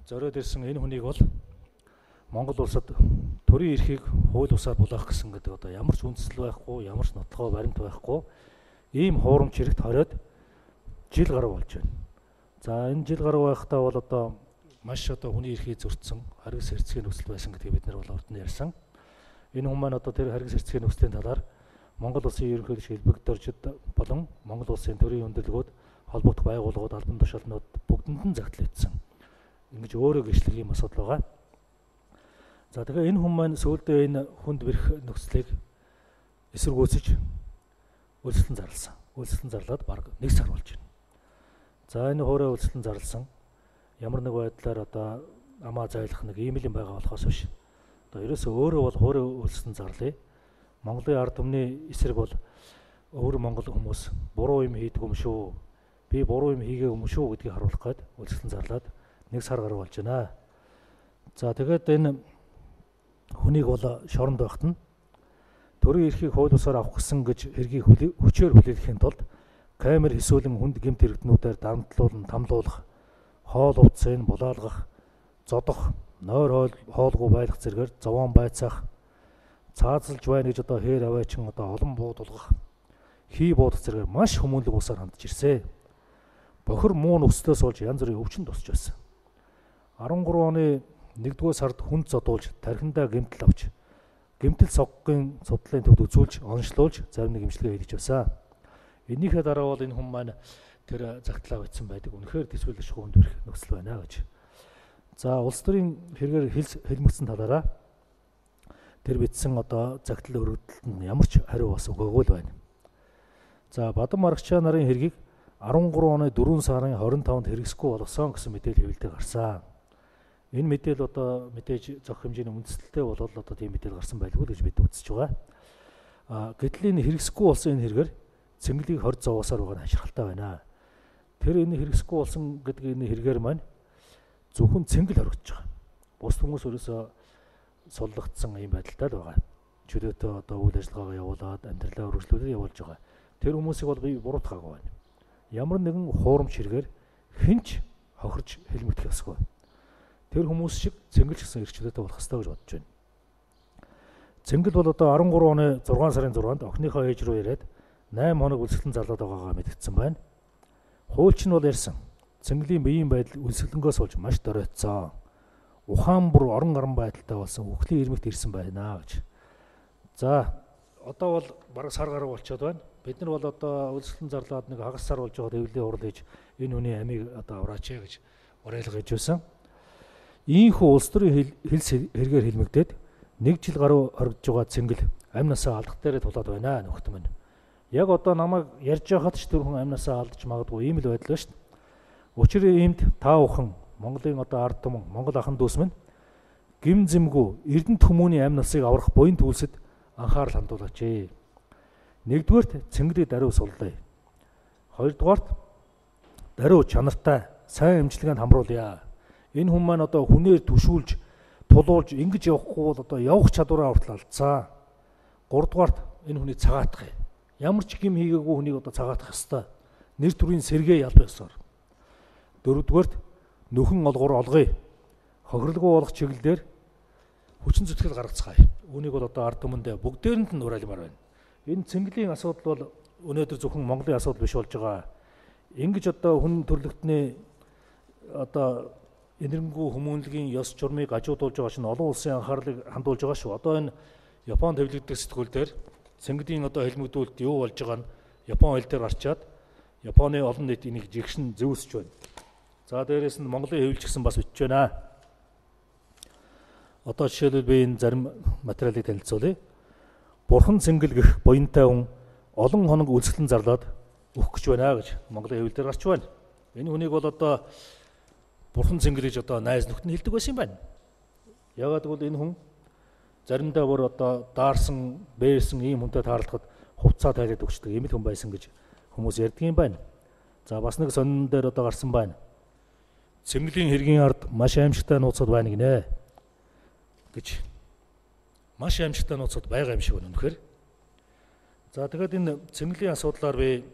зориод ирсэн энэ хүнийг бол Монгол улсад төрийн эрхийг хууль бусаар булаах гэсэн гэдэг одоо ямар ч үндэслэл байхгүй, ямар ч нотлохоо баримт байхгүй ийм хуурамч хэрэгт хориод жил гаруй болж байна. За энэ жил гаруй байхдаа бол одоо маш одоо хүний эрхийг зөрчсөн харгас хэрцгий нөхцөл байсан гэдгийг бид нар бол урд нь ярьсан. Энэ хүн маань одоо тэр харгас хэрцгий нөхцөлийн талаар Монгол улсын ерөнхийлөгч хэлбэгдэрчид болон Монгол улсын төрийн өндөрлгүүд, холбогдох байгууллагууд, албан тушаалнууд бүгдэнд нь загтал хийсэн. Ингэж өөрөө гэрчлэх юм асуудал байгаа. За тэгэхээр энэ хүн маань сүүлдээ энэ хүнд бэрх нөхцөлийг эсэргүүцэж үйлчлэн зарласан. Үйлчлэн зарлаад бараг 1 сар болж байна. За энэ хуурай үйлчлэн зарласан ямар нэг байдлаар одоо амаа зайлах нэг ийм юм байгаа болохоос биш. Одоо ерөөсөө өөрөө бол хуурай үйлчлэн зарлая. Монголын ард түмний эсрэг бол өөр монгол хүмүүс буруу юм хийдэг юм шүү. Би буруу юм хийгээгүй юм шүү гэдгийг харуулах гээд үйлчлэн зарлаад 1 сар гаруй болж байна. За тэгээд энэ хүнийг бол шоронд байхад нь төрийн эрхийг хууль бусаар авах гэсэн гэж хэргийг хүчээр хүлээхийн тулд камер хэсүүлэн хүнд гэмт хэрэгтнүүдээр дамтлуулан тамлуулах, хоол увцын булаалгах, зодох, нойр хоолгүй байлгах зэргээр зовоон байцаах, цаазалж байна гэж одоо хээр аваачин одоо олон буудулгах, хий буудах зэргээр маш хүмүүнлэг усаар хандж ирсэн. Бохир муу нөхцлөөс болж янз бүрийн өвчин тусч байсан. 13 оны 1-р сард хүнд зодуулж тархиндаа гэмтэл авч гэмтэл соггын судлалын төвд үзүүлж онцлуулж зарим нэг имчилгээ хийж байсан. Энийхээ дараа бол энэ хүн маань тэр загтлаа бичсэн байдаг. Үнэхээр төсвөлж хүнд бэрх нөхцөл байна гэж. За улс төрийн хэрэгээр хэлмэгцсэн талаараа тэр бичсэн одоо загтал өргөдөлтөнд ямар ч хариу бас өгөөгүй л байна. За Бадам Аргачаа нарын хэргийг 13 оны 4 сарын 25-нд хэрэгсэхгүй болгосон гэсэн мэдээлэл хэвлэлтэй гарсан. Энэ мэдээлэл одоо мэдээж зохих хэмжээний үндэслэлтэй бол одоо тийм мэдээлэл гарсан байлгүй гэж бид үзэж байгаа. Гэтэл энэ хэрэгсэхгүй болсон энэ хэрэгээр цэнгэлийг 20 зовоосоор байгаа нь хаширхалтай байна. Тэр энэ хэрэгсэхгүй болсон гэдэг энэ хэрэгээр маань зөвхөн цэнгэл хоригдож байгаа. Бус хүмүүс өөрөөсөө суллагдсан юм байдалтай л байгаа. Чөлөөтэй одоо үйл ажиллагаагаа явуулаад амьдралаа өргөжлүүлээд явуулж байгаа. Тэр хүмүүсийг бол би буруутгаагүй байна. Ямар нэгэн хуурамч хэрэгээр хинч хохирж хэлмэгдэх ёсгүй. Тэр хүмүүс шиг цэнгэл гэсэн эрхчлөөтэй болох ёстой гэж бодож байна. Цэнгэл бол одоо 13 оны 6 сарын 6-нд охиныхоо ээж рүү ирээд 8 хоног үлсгэлэн зарлаад байгаагаа мэдгдсэн байна. Хуульч нь бол ярьсан. Цэнгэлийн биеийн байдал үлсгэлэнгөөс болж маш доройтсон. Ухаан бүр орон гарan байдалтай болсон үхлийн ирмэгт ирсэн байна гэж. За одоо бол бараг сар гаруй болчиход байна. Бид нар бол одоо үлсгэлэн зарлаад нэг хагас сар болж байгаад эвлэлийн урал хийж энэ хүний амийг одоо авраач гэж уриалга хийж байсан. Ийхүү улс төрийн хэлс хэрэгээр хэлмэгдээд 1 жил гаруй хоригдж байгаа цэнгэл амнасаа алдах дээрээ тулаад байна нөхд минь. Яг одоо намайг ярьж байхад ч тэр хүн амнасаа алдаж магадгүй ийм л байдал ба шүү дээ. Учир иймд та бүхэн Монголын одоо ард түмэн Монгол ахын дүүс минь гим зэмгүй Эрдэнэт хүмүүний амнасыг аврах буян төлсөд анхаарал хандуулаач. 1-р цэнгэлийг даруй суллаа. 2-р даруй чанартай сайн эмчилгээнд хамруулъя. Энэ хүн маань одоо хүнээр түшүүлж, тулуулж ингэж явахгүй бол одоо явах чадвараа хүртэл алдсан. 3-р энэ хүний цагаатах юм. Ямар ч гим хийгээгүй хүнийг одоо цагаатах ёстой. Нэр төрийн сэргээ ялбах ёсоор. 4-р нөхөн олгор олгоё. Хохирлгүй болох чиглэлээр хүчин зүтгэл гаргацгаая. Үүнийг бол одоо ард түмэндээ бүгдээрэнд нь уриалмаар байна. Энэ цэнгэлийн асуудал бол өнөөдөр зөвхөн Монголын асуудал биш болж байгаа. Ингэж одоо хүн төрлөختний одоо энэрэнгүй хүмүүнлэгийн ёс журмыг гажуудуулж байгаа чинь олон улсын анхаарлыг хандуулж байгаа шүү. Одоо энэ Японд хэвлэгдэх сэтгүүл дээр цэнгэлийн одоо хэлмэгдүүлэлт юу болж байгаа нь Япон хэл дээр гарчаад Японы олон нийт энийг жигшин зөөсөж байна. За дээрээс нь Монголын хэвлэлч гэсэн бас бичиж байна. Одоо жишээлбэл би энэ зарим материалыг танилцуулъя. Бурхан цэнгэл гэх буянтай хүн олон хоног үлсгэлэн зарлаад өөх гэж байна гэж Монголын хэвлэл дээр гарч байна. Энэ хүнийг бол одоо Бурхан цэнгэл гэж одоо найз нөхд нь хэлдэг байсан юм байна. Яагаад гэвэл энэ хүн заримдаа бүр одоо даарсан, бээрсэн ийм хүнтэй таарлахад хувцаа тайлаад өгчдөг ийм л хүн байсан гэж хүмүүс ярьдаг юм байна. За бас нэг сонин дээр одоо гарсан байна. Цэнгэлийн хэргийн ард маш аимшигтай нууцуд байна гинэ гэж. Маш аимшигтай нууцуд байгаа юм шиг байна үнэхээр. За тэгэхээр энэ цэнгэлийн асуудлаар би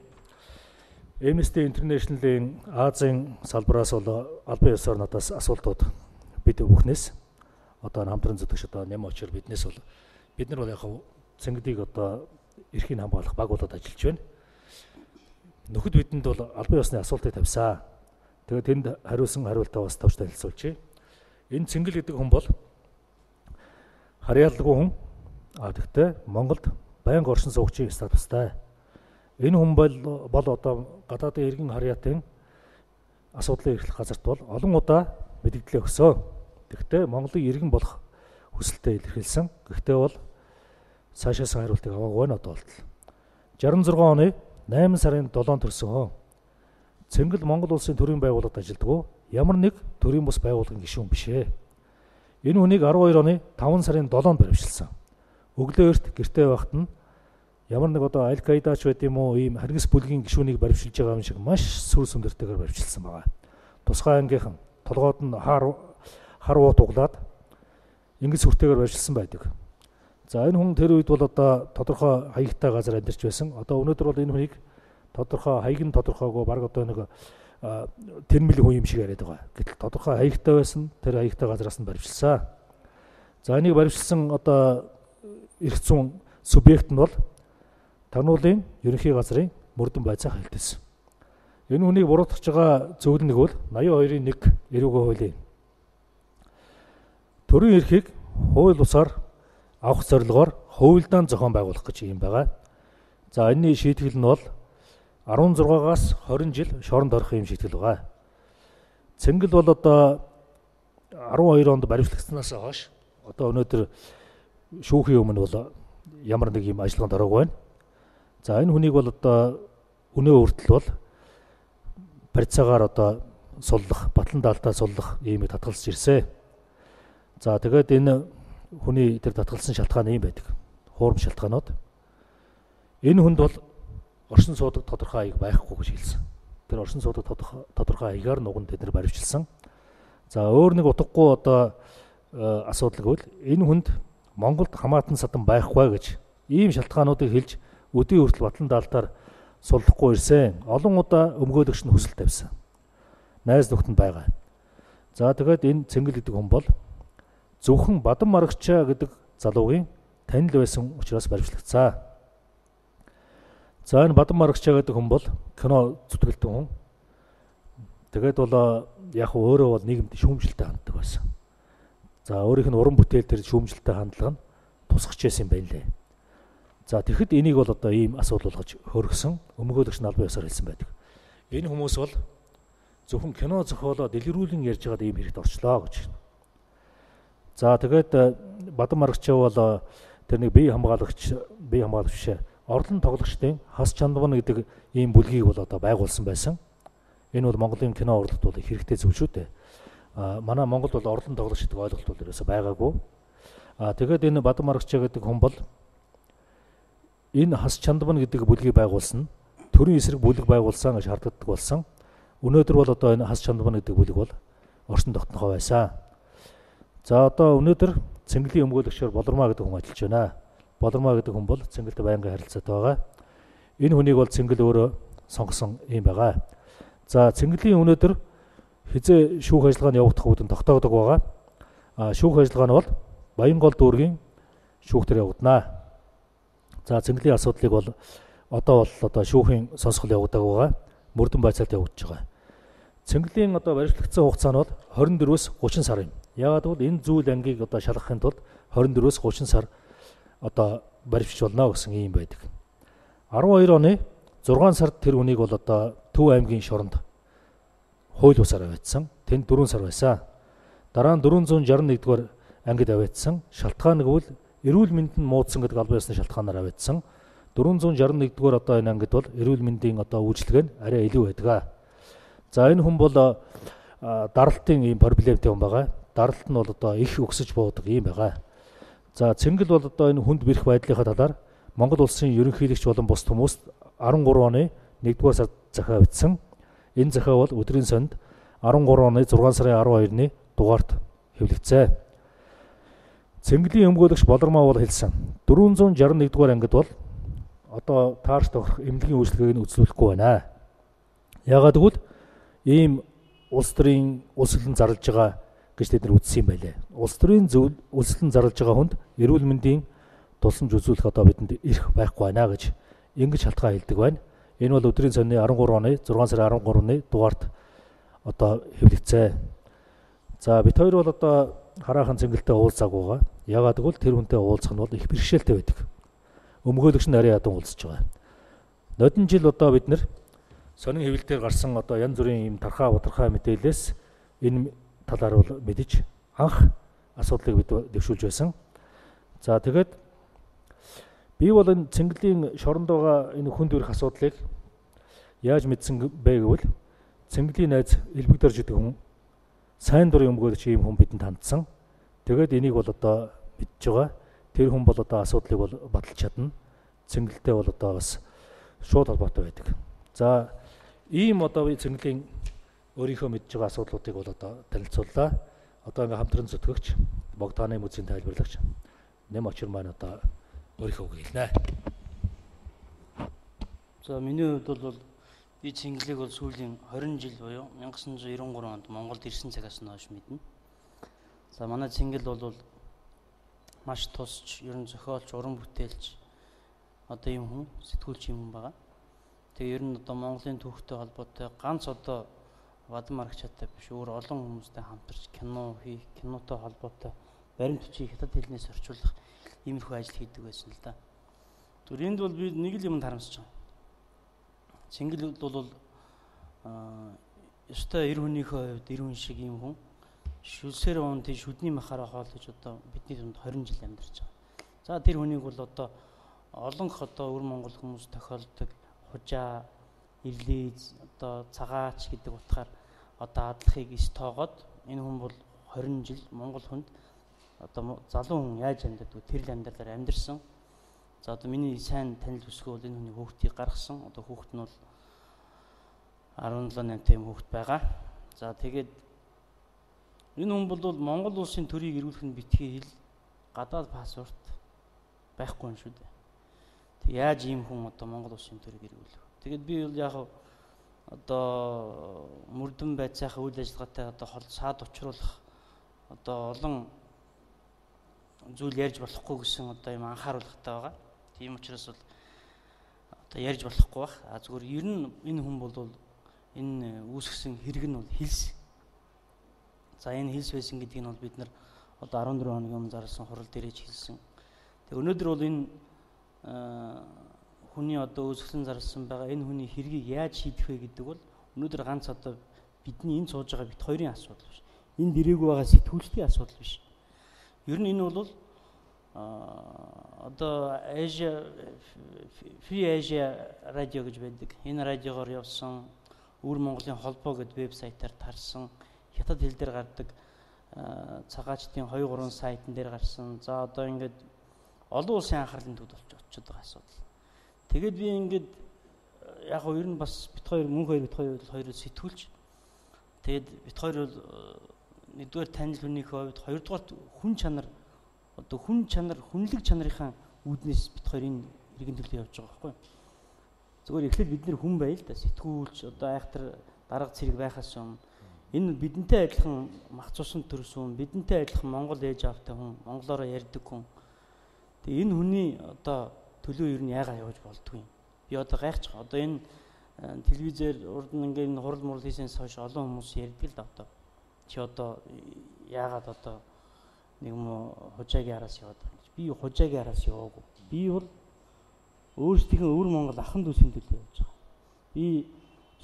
Amnesty International-ийн Азийн салбараас бол албан ёсоор надаас асуултууд бид бүхнээс одоо хамтран зүтгэж одоо нэм очир биднээс бол бид нар бол яг цэнгдийг одоо эрхийг хамгаалах баг болоод ажиллаж байна. Нөхөд бидэнд бол албан ёсны асуултыг тавьсан. Тэгээд тэнд хариулсан хариултаа бас тавьж танилцуулчих. Энэ цэнгэл гэдэг хүн бол харьяалалгүй хүн. Тэгтээ Монголд байнга оршин суугчийн статустай. Энэ хүн бол одоо гадаадын иргэн харьяатын асуудлын эрхлэх газарт бол олон удаа мэдээлэл өгсөн. Тэгтээ Монголын иргэн болох хүсэлтэд илэрхийлсэн. Гэхдээ бол цаашаас хариултыг аваагүй байна одоо болтол. 66 оны 8 сарын 7-нд төрсөн хөө. Цэнгэл Монгол улсын төрийн байгууллагад ажилддаг ямар нэг төрийн бус байгууллагын гишүүн биш ээ. Энэ хүнийг 12 оны 5 сарын 7-нд баривчилсан. Өглөө эрт гэртээ байхад нь ямар нэг одоо Аль-Каидач байт юм уу ийм харгас бүлгийн гишүүнийг баривчилж байгаа юм шиг маш сүр сүндэртэйгээр баривчилсан байгаа. Тусгай ангийнхан толгойд нь хар уу туглаад ингэж сүртэйгээр баривчилсан байдаг. За энэ хүн тэр үед бол одоо тодорхой хаягтай газар амьдарч байсан. Одоо өнөөдөр бол энэ хүнийг тодорхой хаяг нь тодорхойгүй баг одоо нэг тэрмэл хүн юм шиг яриад байгаа. Гэтэл тодорхой хаягтай байсан тэр хаягтай газараас нь баривчилсан. За энийг баривчилсан одоо эрх зүйн субъект нь бол Тагнуулын ерөнхий газрын мөрдөн байцаах хэлтэйсэн. Энэ хүнийг буруутгаж байгаа зөвлөл нэг бол 82-ийн 1 эрүүгийн хуулийн төрийн эрхийг хууль бусаар авах зорилгоор хувилдаан зохион байгуулах гэж юм байгаа. За энэний шийтгэл нь бол 16-аас 20 жил шоронд орох юм шийтгэл байгаа. Цэнгэл бол одоо 12 онд баривчлагдсанаас хойш одоо өнөөдөр шүүхийн өмнө бол ямар нэг юм ажиллагаанд ороогүй байна. За энэ хүнийг бол одоо өнөө хүртэл бол барьцаагаар одоо суллах, батлан даалтаа суллах иймийг татгалзаж ирсэн. За тэгээд энэ хүний тэр татгалсан шалтгаан юм байдаг. Хуурам шалтгаанууд. Энэ хүнд бол оршин суудаг тодорхой хаяг байхгүй гэж хэлсэн. Тэр оршин суудаг тодорхой хаягаар нуган тэд нар баривчилсан. За өөр нэг утгагүй одоо асуудал гэвэл энэ хүнд Монголд хамаатан садан байхгүй гэж ийм шалтгаануудыг хэлж өдөө хүртэл батлан даалтаар суллахгүй ирсэн. Олон удаа өмгөөлөгч нь хүсэл тавьсан. Найз нөхдөнд байгаа. За тэгээд энэ цэнгэл гэдэг хүн бол зөвхөн Бадан Марагчаа гэдэг залуугийн танил байсан учраас баривчлагдсан. За энэ Бадан Марагчаа гэдэг хүн бол кино зүтгэлтэн хүн. Тэгээд бол яг өөрөө бол нийгэмд шүүмжлэлтэй ханддаг байсан. За өөрийнх нь уран бүтээл төр шүүмжлэлтэй хандлага нь тусгаж байсан юм байна лээ. За тэгэхэд энийг бол одоо ийм асуудал болгож хөргсөн өмгөөлөгч нь албан ёсоор хэлсэн байдаг. Энэ хүмүүс бол зөвхөн кино зохиолоо дэлгэрүүлэн ярьж байгаад ийм хэрэгт орчлоо гэж. За тэгээд Бадан Марагчаа бол тэр нэг бие хамгаалагч биш орлон тоглогчдын хас чандман гэдэг ийм бүлгийг бол одоо байгуулсан байсан. Энэ бол Монголын кино урлагт бол хэрэгтэй зүйл шүү дээ. Манай Монголд бол орлон тоглогч гэдэг ойлголт бол ерөөсөй байгаагүй. Тэгээд энэ Бадан Марагчаа гэдэг хүн бол энэ хас чандман гэдэг бүлгийг байгуулсан, төрийн эсрэг бүлэг байгуулсан гэж харддаг болсон. Өнөөдөр бол одоо энэ хас чандман гэдэг бүлэг бол оршин тогтнохоо байсан. За одоо өнөөдөр цэнгэлийн өмгөөлөгчөөр Болормаа гэдэг хүн ажиллаж байна. Болормаа гэдэг хүн бол цэнгэлд байнгын харилцаатай байгаа. Энэ хүнийг бол цэнгэл өөрөө сонгосон юм байгаа. За цэнгэлийн өнөөдөр хизээ шүүх ажиллагааны явагдах үүдэн тогтоогдог байгаа. Шүүх ажиллагаа нь бол Баянгол дүүргийн шүүхтэр явагдана. За цэнгэлийн асуудлыг бол одоо шүүхийн сонсгол явагдаг байгаа. Мөрдөн байцаалд явагдаж байгаа. Цэнгэлийн одоо баривчлагдсан хугацаа нь бол 24-өөс 30 сар юм. Яагаад гэвэл энэ зүйл ангийг одоо шалгахын тулд 24-өөс 30 сар одоо баривчилж болно гэсэн юм байдаг. 12 оны 6 сард тэр хүнийг бол одоо Төв аймгийн шоронд хууль бусаар аваадсан. Тэнд 4 сар байсан. Дараа нь 461-р ангид аваадсан. Шалтгаан нь гэвэл эрүүл мэнд нь муудсан гэдэг албан ёсны шалтгаанаар аваадсан. 461-р одоо энэ ангид бол эрүүл мэндийн одоо үйлчлэг нь арай илүү байдаг. За энэ хүн бол даралтын ийм проблемтэй хүн байгаа. Даралт нь бол одоо их өксөж буудаг юм байгаа. За цэнгэл бол одоо энэ хүнд бэрх байдлынхаа талаар Монгол улсын ерөнхийлөгч болон бус хүмүүст 13 оны 1-р сард захиа бичсэн. Энэ захиа бол өдрийн сонд 13 оны 6 сарын 12-ны дугаарт хэвлэгдсэн. Цэнгэлийн өмгөөлөгч Болормаа бол хэлсэн. 461-р ангид бол одоо таарч тохирох эмнэлгийн үйлчлэгийг нь үзүүлэхгүй байна. Яагаад гэвэл ийм улс төрийн улсөлн зарлж байгаа гэж тэд нар үзсэн юм байлээ. Улс төрийн улсөлн зарлж байгаа хүнд эрүүл мэндийн тусламж үзүүлэх одоо бидэнд эрх байхгүй байна гэж ингэж шалтгаан хэлдэг байна. Энэ бол өдрийн цонины 13 оны 6 сарын 13-ны дугаарт одоо хэвлэгцээ. За бид хоёр бол одоо хараахан цэнгэлтэй уулзааг байгаа. Яагаад гэвэл тэр хүнтэй уулзах нь бол их бэрхшээлтэй байдаг. Өмгөөлөгч нь арай ядан уулзж байгаа. Нодон жил одоо бид нэр сонин хэвлэлээр гарсан одоо янз бүрийн юм тархаа удархай мэдээлэлээс энэ талаар бол мэдэж анх асуудлыг бид дэвшүүлж байсан. За тэгээд би бол энэ цэнгэлийн шоронд байгаа энэ хүнд өрөх асуудлыг яаж мэдсэн бэ гэвэл цэнгэлийн найз Элбэгдэрж гэдэг хүн сайн дурын өмгөөлөгч ийм хүн бидэнд хандсан. Тэгээд энийг бол одоо мэдж байгаа. Тэр хүн бол одоо асуудлыг бол баталж чадна. Цэнгэлтэй бол одоо бас шууд холбоотой байдаг. За ийм одоо цэнгэлийн өөрийнхөө мэдж байгаа асуудлуудыг бол одоо танилцууллаа. Одоо ингээм хамтран зүтгэгч Богдааны музейн тайлбарлагч Нэм очир маань одоо өөрийнхөө үг хэлнэ. За миний хувьд бол би цэнгэлийг бол сүүлийн 20 жил буюу 1993 онд Монголд ирсэн цагаас нь хойш мэднэ. За манай цэнгэл бол маш тусч, ер нь зохиолч, уран бүтээлч одоо юм хүн, сэтгүүлч юм байгаа. Тэгээ ер нь одоо Монголын түүхтэй холбоотой ганц одоо бадам аргачаатай биш, өөр олон хүмүүстэй хамтарч кинотой холбоотой баримт бичиг хятад хэлнээс орчуулах иймэрхүү ажил хийдэг байсан л да. Тэгвэл энд бол би нэг л юмд харамсаж байгаа. Цэнгэл бол ёстой эр хүнийхээ хувьд эр хүн шиг юм хүн шүлсээр уун тийш шүдний махаараа хоол гэж одоо бидний дунд 20 жил амьдарч байгаа. За тэр хүнийг бол одоо олонх одоо өвөр Монгол хүмүүс тохиолдог хужаа, ирлиз, одоо цагаач гэдэг утгаар одоо адлахыг эс тоогоод энэ хүн бол 20 жил Монгол хүнд одоо залуу хүн яаж амьдардаг тэр л амьдралаар амьдэрсэн. За одоо миний сайн танил бүсгүй бол энэ хүний хүүхдийг гаргасан. Одоо хүүхд нь бол 17-8 хүүхд байгаа. За тэгээд энэ хүн бол Монгол улсын төрийг эргүүлэх нь битгий хэл гадаад паспорт байхгүй юм шүү дээ. Тэг яаж ийм хүн одоо Монгол улсын төрийг эргүүлэх вэ? Тэгээд би бол яг одоо мөрдөн байцаахаа үйл ажиллагаатай одоо саад учруулах одоо олон зүйл ярьж болохгүй гэсэн одоо юм анхааруулгатай байгаа. Тийм учраас бол одоо ярьж болохгүй бах. Зүгээр ер нь энэ хүн бол энэ үүсгэсэн хэрэг нь бол хилс. За энэ хилс байсан гэдгийг нь бол бид нар одоо 14 хоногийн өмнө зарласан хурал дээрэж хэлсэн. Тэг өнөөдөр бол энэ хүний одоо үүсгэсэн зарласан байгаа энэ хүний хэргийг яаж шийдэх вэ гэдэг бол өнөөдөр ганц одоо бидний энэ сууж байгаа бит хоёрын асуудал биш. Энд ирээгүй байгаа сэтгүүлчдийн асуудал биш. Ер нь энэ бол одоо Free Asia радио гэж байдаг. Энэ радиогоор явсан өвөр Монголын холбоо гэдэг вебсайтаар тарсан хятад хэл дээр гардаг цагаачдын 2-3 сайтн дээр гарсан. За одоо ингээд олон улсын анхаарлын төвд очиж байгаа асуудал. Тэгээд би ингээд яг нь ер нь бас бит хоёр хоёроо сэтгүүлч. Тэгээд бит хоёр бол нэгдүгээр танил хүнийхээ хувьд хоёрдугаар хүн чанар одоо хүн чанар хүнлэг чанарынхаа үүднээс бит хоёр энэ иргэн төлөө явж байгаа байхгүй. Зүгээр эхлээд бид нэр хүн байл да сэтгүүлч одоо айхтар дарга цэрэг байхаас өмнө энэ бидэнтэй адилхан мах цусан төрсөн бидэнтэй адилхан Монгол ээж аавтай хүн монголоор ярьдаг хүн. Тэгээ энэ хүний одоо төлөө ер нь яагаад явж болдгүй юм. Би одоо гайхаж байгаа. Одоо энэ телевизээр урд нь ингээд энэ хурал мурал хийсэнээс хойш олон хүмүүс ярьдаг л да одоо. Чи одоо яагаад одоо нэг юм хужаагийн араас яваад байгаа юм. Би хужаагийн араас яваагүй. Би бол өөрсдийнхөө өвөр Монгол ахын дүүсийн төлөө явж байгаа. Би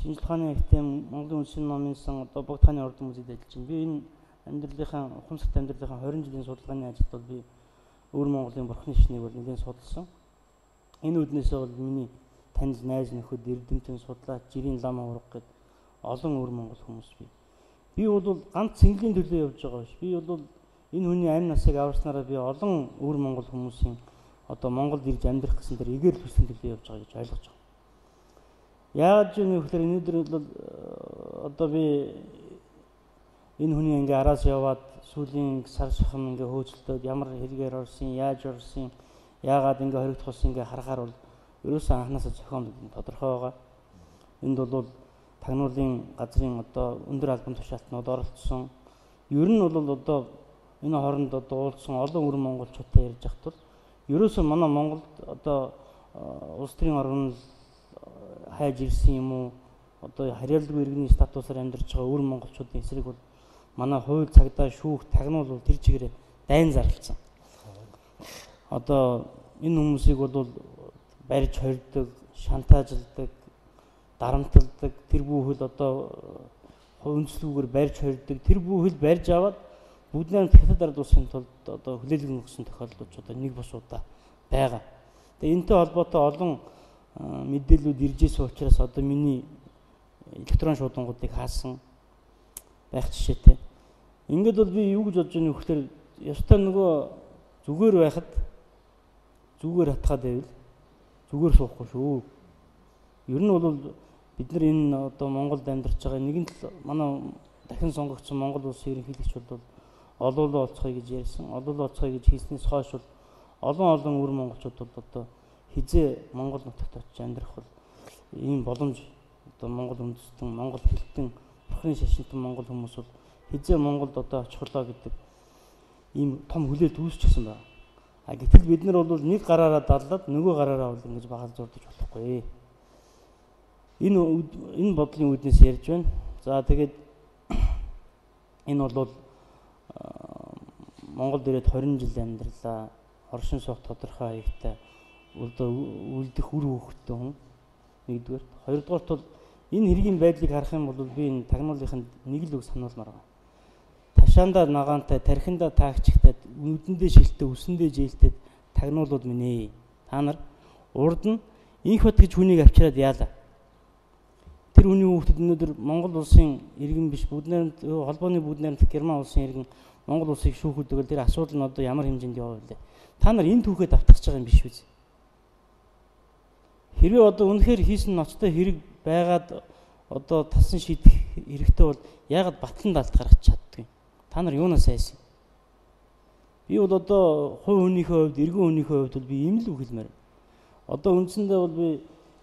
шинжлэх ухааны агентийн Монголын үндэсний номын сан одоо Богдааны ордон музейд ажиллаж байна. Би энэ амьдралынхаа ухамсарт амьдралынхаа 20 жилийн судалгааны ажилд бол би өвөр Монголын бурхны шнийг бол нэлээд судалсан. Энэ үднээсээ бол миний танил найз нөхөд эрдэмтэн судлаач жирийн лам авраг гэд олон өвөр Монгол хүмүүс би. Би бол ганц цэнгэлийн төлөө явж байгаа биш. Би бол энэ хүний амь насыг аварснараа би олон өвөр Монгол хүмүүсийн одоо Монголд ирж амьдрах гэсэн дээр эгээр төслийн төлөө явж байгаа гэж ойлгож байгаа. Яаж юм вэ гэхээр өнөөдөр бол одоо би энэ хүний ингээ араас яваад сүүлийн сар шахам ингээ хөөцөлтөд ямар хэрэгээр орсон, яаж орсон, яагаад ингээ хоригдох болсон ингээ харахаар бол ерөөсөн анханасаа зохион тодорхой байгаа. Энд бол тагнуулын газрын одоо өндөр албан тушаалтнууд оролцсон. Ер нь бол одоо энэ хооронд одоо уулзсан олон өрн монголчуудтай ярьж байхад бол ерөөсөө манай Монголд одоо улс төрийн орон хайж ирсэн юм уу? Одоо харьяалалгүй иргэний статусаар амьдарч байгаа өрн монголчуудын эсрэг бол манай хууль цагдаа шүүх тагнуул бол тэр чигээрээ дайн зарлцсан. Одоо энэ хүмүүсийг бол барьж хорьдог, шантаажладаг, дарамталдаг, тэр бүхэл одоо үндэслүүгээр барьж хорьдог, тэр бүхэл барьж аваад бүгднээр хятад ард улсын тулд одоо хүлээлгэн өгсөн тохиолдлууд одоо нэг бос удаа байгаа. Тэгээ энэтэй холбоотой олон мэдээллүүд ирж ирсэн учраас одоо миний электрон шуудангуудыг хаасан байх жишээтэй. Ингээд бол би юу гэж бодож байна вэ гэхээр ёстой нөгөө зүгээр байхад зүгээр хатгаад байвал зүгээр суухгүй шүү. Ер нь бол бид нар энэ одоо Монголд амьдарч байгаа нэгэн тал манай дахин сонгогдсон Монгол улсын ерөнхийлөгч бол олоолаа олцгоё гэж ярьсан. Олоолаа олцгоё гэж хэлснээс хойш бол олон өр монголчууд бол одоо хизээ Монгол нутагт очиж амьдрах бол ийм боломж одоо Монгол үндэстэн, Монгол хэлтэн, бурхны шашинтан Монгол хүмүүс бол хизээ Монголд одоо очихлоо гэдэг ийм том хүлээлт үүсчихсэн байна. А гэтэл бид нар бол нэг гараараа даллаад нөгөө гараараа бол ингэж багал зурдаж болохгүй. Энэ бодлын үүднээс ярьж байна. За тэгээд энэ бол Монголд ирээд 20 жил амьдралаа. Оршин суух тодорхой хаягтай үлдэх үр хөвгтөн хүн. Нэгдүгээр. Хоёрдугаарт бол энэ хэргийн байдлыг харах юм бол би энэ тагнуулынханд нэг л үг сануулмаар байна. Ташаандаа нагаантай, тархиндаа таагчтай, нүдэндээ шилтээ, үсэндээ жээлтэй тагнуулууд минь ээ. Та нар урд нь инх бат гэж хүнийг авчираад яалаа. Тэр хүний хүүхдэд өнөөдөр Монгол улсын иргэн биш бүгднээр холбооны бүгднээр Герман улсын иргэн Монгол улсыг шүүхүүлдэг бол тэр асуудал нь одоо ямар хэмжээнд яваа вэ? Та нар энэ түүхээ давтгаж байгаа юм биш үү? Хэрвээ одоо үнэхээр хийсэн ноцтой хэрэг байгаад одоо тасан шийдэх хэрэгтэй бол яагаад батлан далд гаргаж чаддгүй? Та нар юунаас айсан? Би бол одоо хувь хүнийхээ хувьд, иргэн хүнийхээ хувьд бол би ийм л үг хэлмээр. Одоо үндсэндээ бол би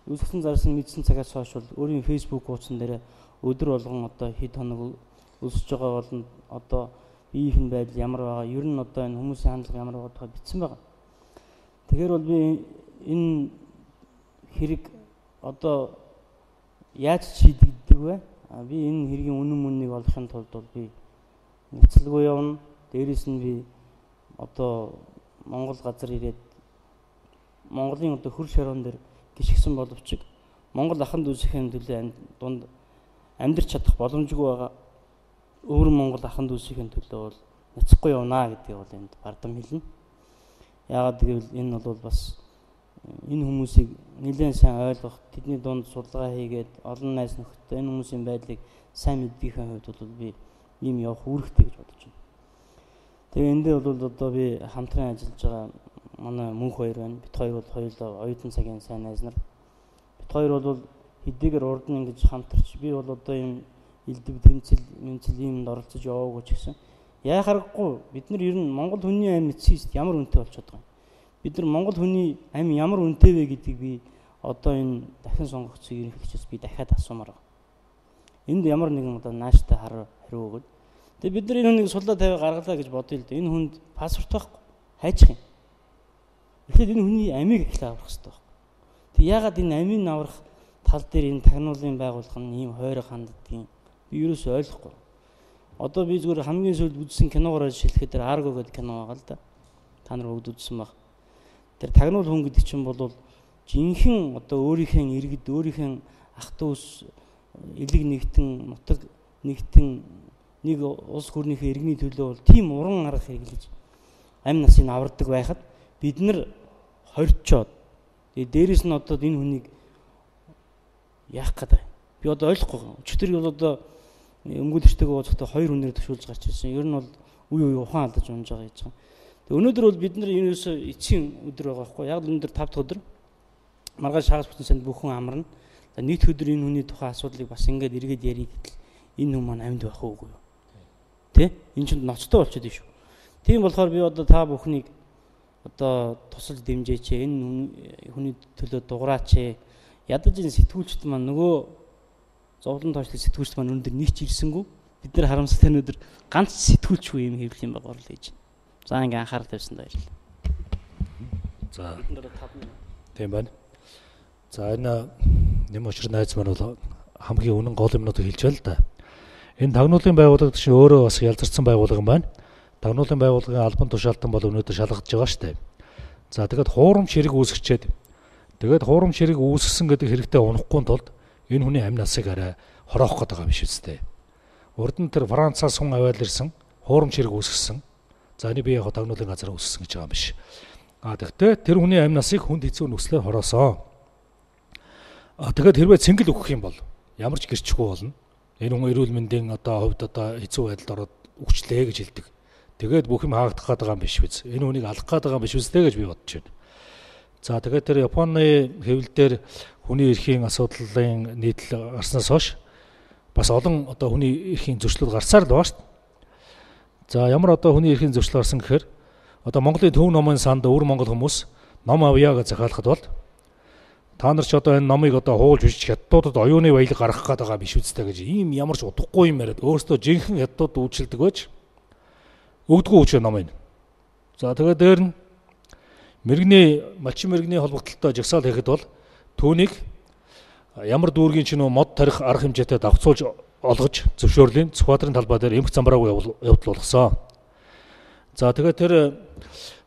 үсгсэн зарсан мэдсэн цагаас хойш бол өөрийн фэйсбүүк хуудсан дээр өдөр болгон одоо хэд хоног өсөж байгаа болно. Одоо биеийн байдал ямар байгаа, ер нь одоо энэ хүмүүсийн хандлага ямар байгаа тухай бичсэн байгаа. Тэгэхээр бол би энэ хэрэг одоо яаж шийдэгддэг вэ? Би энэ хэргийн үнэн мөннийг олохын тулд бол би нэцэлгүй явна. Дээрээс нь би одоо Монгол газар ирээд Монголын одоо хөр шороон дээр гიშгсэн боловч Монгол аханд үсгийн төлөө дунд амьдрч чадах боломжгүй байгаа. Өөр Монгол аханд үсгийн төлөө бол няцахгүй явна гэдгийг бол энд бардам хэлнэ. Яагаад гэвэл энэ бол бас энэ хүмүүсийг нэлээд сайн ойлгох, тэдний дунд судалгаа хийгээд олон найз нөхдөд энэ хүмүүсийн байдлыг сайн мэддгийхэн хувьд бол би ийм явах үүрэгтэй гэж бодож байна. Тэгээ эндээ бол одоо би хамтран ажиллаж байгаа манай мөнх хоёр байна. Бид хоёр бол хоёулаа оюутан цагийн сайн найз нар. Бид хоёр бол хэдийгээр урд нь ингэж хамтарч би бол одоо ийм элдв тэмцэл иймд оролцож яваагүй ч гэсэн яа харахгүй бид нар ер нь Монгол хүний амь эцсийст ямар үнэтэй болчиход байгаа юм. Бид нар Монгол хүний амь ямар үнэтэй вэ гэдгийг би одоо энэ дахин сонгогдсон ерөнхийлөгчөөс би дахиад асуумаар байна. Энд ямар нэгэн одоо нааштай хариу өгөөд тэгээ бид нар энэ хүнийг суллаа тавиа гаргалаа гэж бодъё л дээ. Энэ хүнд паспорт байхгүй хайчих юм. Тэгэхээр энэ хүний амийг их аврах хэрэгтэй байна. Тэг яагаад энэ амийг аврах тал дээр энэ тагнуулын байгууллага нь ийм хойрог ханддгийг би ерөөсөй ойлгохгүй. Одоо би зүгээр хамгийн сүүлд үзсэн киногоор шилэхэд тэр Argo гэдэг кино байгаа л да. Та нар бүгд үзсэн баг. Тэр тагнуул хүн гэдэг чинь бол жинхэнэ одоо өөрийнхөө иргэд, өөрийнхөө ах дүүс элэг нэгтэн, нутаг нэгтэн нэг улс гүрнийхээ иргэний төлөө бол тийм уран арга хэрэглэж амь насыг авардаг байхад бид нар хорьцоод тэгээ дээрэс нь одоо энэ хүнийг яах гэдэг. Би одоо ойлгохгүй. Өчтөр бол одоо өмгөөлөгчтэйгээ уулзахдаа хоёр хүнээр төвшүүлж гарч ирсэн. Ер нь бол үе ухаан алдаж унж байгаа гэж байгаа. Тэгээ өнөөдөр бол бид нар ерөөсөө эцсийн өдөр байгаа байхгүй. Яг л өнөөдөр 5 дахь өдөр маргааш хагас бүтэн санд бүх хүн амарна. Нийт өдөр энэ хүний тухай асуудлыг бас ингээд эргээд ярих гэтэл энэ хүн маань амьд байх уугүй юу? Тэ? Энэ чинь ноцтой болчиход шүү. Тийм болохоор би одоо та бүхнийг одоо тусалж дэмжээч. Энэ хүний төлөө дугаараач. Ядаж энэ сэтгүүлчд маань нөгөө зовлон тоочлог сэтгүүлч маань өнөөдөр нэг ч ирсэнгүй. Бид нар харамсалтай өнөөдөр ганц сэтгүүлчгүй юм хэвлэл юм байгаа орлоо хийж. За ингээ анхаарал тавьсан баярлалаа. За. Бид нар 5 минут. Тийм байна. За энэ нэм очир найз маань бол хамгийн үнэн гол юмнуудыг хэлж байна л да. Энэ тагнуулын байгууллага чинь өөрөө бас ялзарсан байгууллага юм байна. Тагнуулын байгууллагын албан тушаалтан бол өнөөдөр шалгагдж байгаа шүү дээ. За тэгээд хуурамч хэрэг үүсгчээд тэгээд хуурамч хэрэг үүсгэсэн гэдэг хэрэгтэй унахгүй тулд энэ хүний амь насыг арай хороох гэдэг юм биш үстэй. Урд нь тэр Францаас хүн аваад ирсэн хуурамч хэрэг үүсгэсэн. За энэ би яг тагнуулын газар үүсгэсэн гэж байгаа юм биш. Тэгэхдээ тэр хүний амь насыг хүнд хэцүү нөхцлөөр хороосоо. Тэгээд хэрвээ цэнгэл өгөх юм бол ямар ч гэрчгүй болно. Энэ хүн эрүүл мэндийн хувьд хэцүү байдалд ороод өгчлээ гэж хэлдэг. Тэгээд бүх юм хаагдах гээд байгаа юм биш биз. Энэ хүнийг алах гээд байгаа юм биш үстэй гэж би бодож байна. За тэгээд тэр Японы хэвлэлээр хүний эрхийн асуудлын нийтлэл гарснаас хойш бас олон хүний эрхийн зөрчлүүд гарсаар л байгаа шүү дээ. За ямар хүний эрхийн зөрчил гарсан гэхээр Монголын төв номын санд өвөр монгол хүмүүс ном авъя гэж захиалахад бол та нар ч энэ номыг хуулж бичиж хятадуудад оюуны баялаг гаргах гээд байгаа биш үстэй гэж ийм ямар ч удахгүй юм яриад өөрөөсөө жинхэнэ хятадууд үйлчилдэг байж өгдөггүй үуч ном энэ. За тэгээд дээр нь малчин мэрэгний холбогдлолтой жагсаал хийхэд бол түүнийг ямар дүүргийн ч мод тарих арга хэмжээтэй давцуулж олгож зөвшөөрлийн Цүхбаатарын талбай дээр эмх замбраагүй явдал болгосон. За тэгээд тэр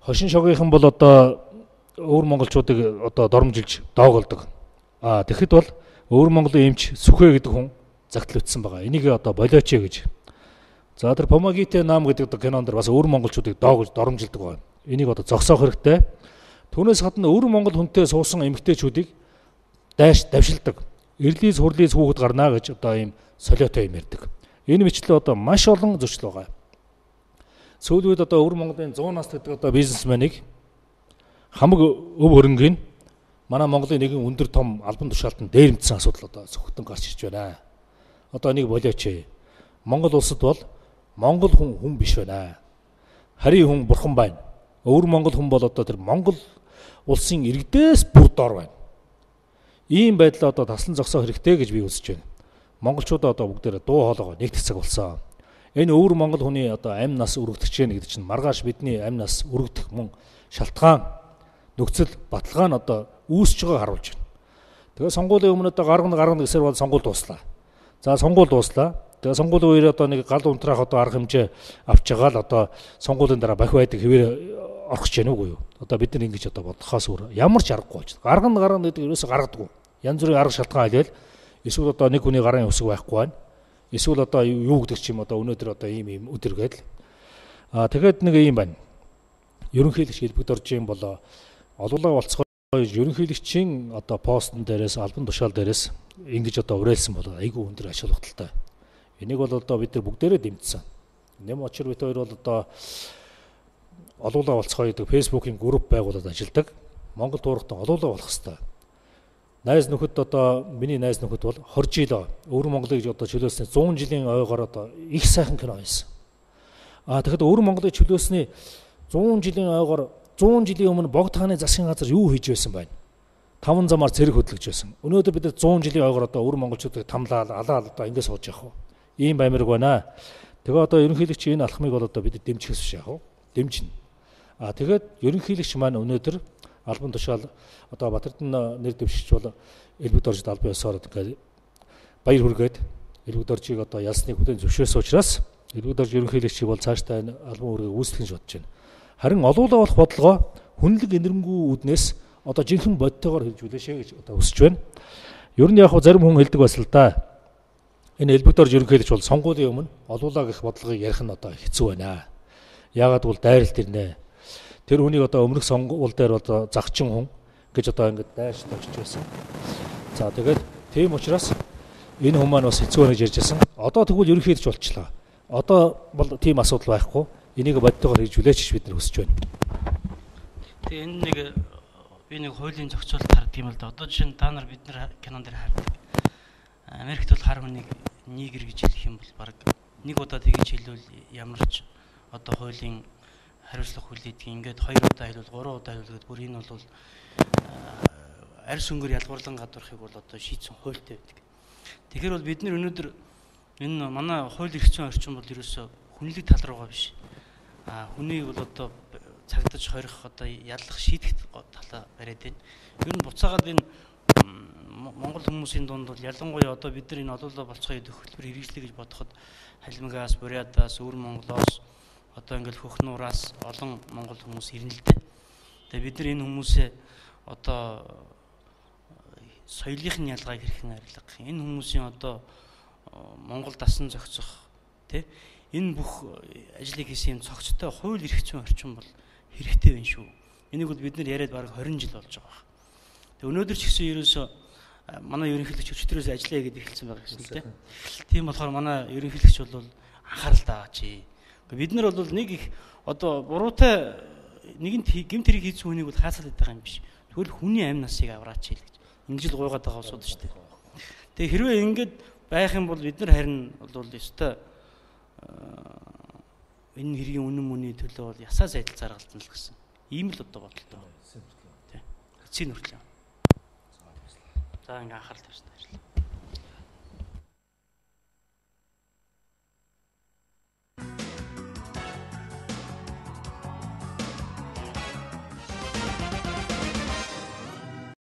хошин шогийнхан бол өвөр монголчуудыг дормжилж доогоолдог. Тэгэхэд бол өвөр монголын эмч Сүхэ гэдэг хүн загтал ütсэн байгаа. Энийг болооч гэж. За тэр Помагите нам гэдэг кинонд бас өвөр монголчуудыг доогож доромжилдаг байна. Энийг зогсоох хэрэгтэй. Түүнээс гадна өвөр монгол хүнтэй суусан эмэгтэйчүүдийг давшилдаг. Эрлиз хурлиз хүүхэд гарнаа гэж ийм солиотой юм ярьдаг. Энэ мэтлээ маш олон зөрчил байгаа. Сүүлийн үед өвөр монголын 100 нас гэдэг бизнесменийг хамаг өв хөрөнгөний манай Монголын нэгэн өндөр том албан тушаалтанд дээрэмдсэн асуудал зөвхөн гарч ирж байна. Энийг болооч. Монгол улсад бол монгол хүн биш байна. Харийн хүн бурхан байна. Өвөр монгол хүн бол тэр Монгол улсын иргэдээс бүр дор байна. Ийм байдлаа таслан зогсоох хэрэгтэй гэж би үзэж байна. Монголчууд бүгдээр дуу хоолойгоо нэгтгэх цаг болсон. Энэ өвөр монгол хүний амь нас өргөдөх чинь гэдэг чинь маргааш бидний амь нас өргөдөх мөн шалтгаан нөхцөл баталгаа нь үүсэж байгааг харуулж байна. Тэгээ сонгуулийн өмнө гаргана гэсээр бол сонгуул дууслаа. За сонгуул дууслаа. Тэгээ сонгуулийн үеэр нэг гал унтраах арга хэмжээ авч байгаа л сонгуулийн дараа бахи байдаг хэвээр орох гэж байна уу юу? Бид нар ингэж бодохоос өөр ямар ч аргагүй байж. Гаргана гэдэг ерөөсө гаргадаггүй. Янз бүрийн арга шалтгаан хэлээл эсвэл нэг хүний гарын өсөг байхгүй байна. Эсвэл юу гэдэг ч юм өнөөдөр ийм өдөр гээл. Тэгээд нэг юм байна. Ерөнхийлөгч хэлбэгд орж юм бол олуулаа болцгоо ерөнхийлөгчийн постн дээрээс албан тушаал дээрээс ингэж уриалсан бол айгүй өндөр ач холбогдолтой. Энийг бол бид нар бүгдээрээ дэмжсэн. Нэм очир бит хоёр бол олуулаа болцгоо гэдэг фэйсбүүкийн групп байгуулад ажилладаг. Монгол туурахтан олуулаа болох хэвээр. Найз нөхөд миний найз нөхөд бол 20 жил өвөр Монголыг чөлөөснөө 100 жилийн ойгоор их сайхан кино хийсэн. Тэгэхэд өвөр Монголыг чөлөөсний 100 жилийн ойгоор 100 жилийн өмнө богд хааны засгийн газар юу хийж байсан байна? 5 замаар цэрэг хөдлөж байсан. Өнөөдөр бид 100 жилийн ойгоор өвөр монголчуудыг тамлаад алаад ингэ сууж явах уу? Ийм баймирг байна. Тэгээ ерөнхийлөгч энэ алхмыг бол бид дэмжихээс биш яах вэ? Дэмжинэ. Тэгээд ерөнхийлөгч маань өнөөдөр албан тушаал Батэрдэн нэр дэвшигч бол элбэг доржид албан ёсоор баяр хүргээд элбэг доржийг ялсныг хүлээн зөвшөөрсөн учраас элбэг дорж ерөнхийлөгчийг бол цаашдаа энэ албан үүргийг үүсгэх гэж бодож байна. Харин олуулаа болох бодлогоо хүнлэг энэрмгүй үүднээс жинхэнэ бодтойгоор хэрэгжүүлээшээ гэж хүсэж байна. Ер нь яг зарим хүн хэлдэг бас л да. Энэ элбэг дорж ерөнхийлөгч бол сонгуулийн өмнө олуулаа гэх бодлогыг ярих нь хэцүү байна. Яагаад гэвэл дайралт ирнэ. Тэр хүнийг өмнөх сонгуул дээр загчин хүн гэж ингэж дайрч тавьж байсан. За тэгээд тийм учраас энэ хүмүүс маань бас хэцүү байна гэж ярьж байсан. Тэгвэл ерөнхийлөгч болчлаа. Бол тийм асуудал байхгүй. Энийг бодтойгоор хэрэгжүүлээч гэж бид нар хүсэж байна. Тэгээ энэ би нэг хуулийн зохицуулалт хардаг юм л да. Жишээ нь та нар бид нар кинон дээр хардаг. Америкт бол хар хүнийг нигер гэж хэлэх юм бол баг нэг удаа тэгж хэлвэл ямар ч хуулийн хариуцлага хүлээдэг. Ингээд 2 удаа хэлвэл 3 удаа хэлвэл бүр энэ бол арьс өнгөөр ялгуурлан гадуурхыг бол шийдсэн хуультай байдаг. Тэгэхээр бол бид нэр өнөөдөр энэ манай хууль эрх зүйн орчин бол ерөөсөө хүнлэг тал руугаа биш. Хүнийг бол одоо цагдаж хорих одоо яллах шийдэх талаа бариад байна. Ер нь буцаагаад энэ Монгол хүмүүсийн дунд бол ялангуяа одоо бид нар энэ олоолаа болцгоо идэх хөтөлбөр хэрэгжлэе гэж бодоход Халимгаас, Бурятаас, Өвөр Монголоос одоо ингээл Хөхнуураас олон монгол хүмүүс ирнэ л дээ. Тэгээ бид нар энэ хүмүүсээ одоо соёлын ялгааг хэрхэн арилгах, энэ хүмүүсийн одоо Монгол дасан зохицох тий энэ бүх ажлыг хийсэн цогцтой хууль эрх зүйн орчин бол хэрэгтэй байна шүү. Энийг бол бид нар яриад бараг 20 жил болж байгаа. Тэгээ өнөөдөр ч гэсэн ерөөсөө манай ерөнхийлөгч өчтөрөөс ажиллая гэдээ хэлсэн байгаа гэсэн тийм. Тийм болохоор манай ерөнхийлөгч бол анхаарал тааж. Бид нар бол нэг их одоо буруутай нэгэнт гэмт хэрэг хийсэн хүнийг бол хаацаад байдаг юм биш. Тэгвэл хүний амь насыг авраач хэл гэж. Ингэж л гуйгаад байгаа усуд шүү дээ. Тэгээ хэрвээ ингэж байх юм бол бид нар харин бол ёстой энэ хэргийн үнэн мөний төлөө бол ясаа сайдл заргалдана л гэсэн. Ийм л одоо бодолтой байна. Тийм. Эцсийн нүртэл. За ингээ анхаарал тавьсан.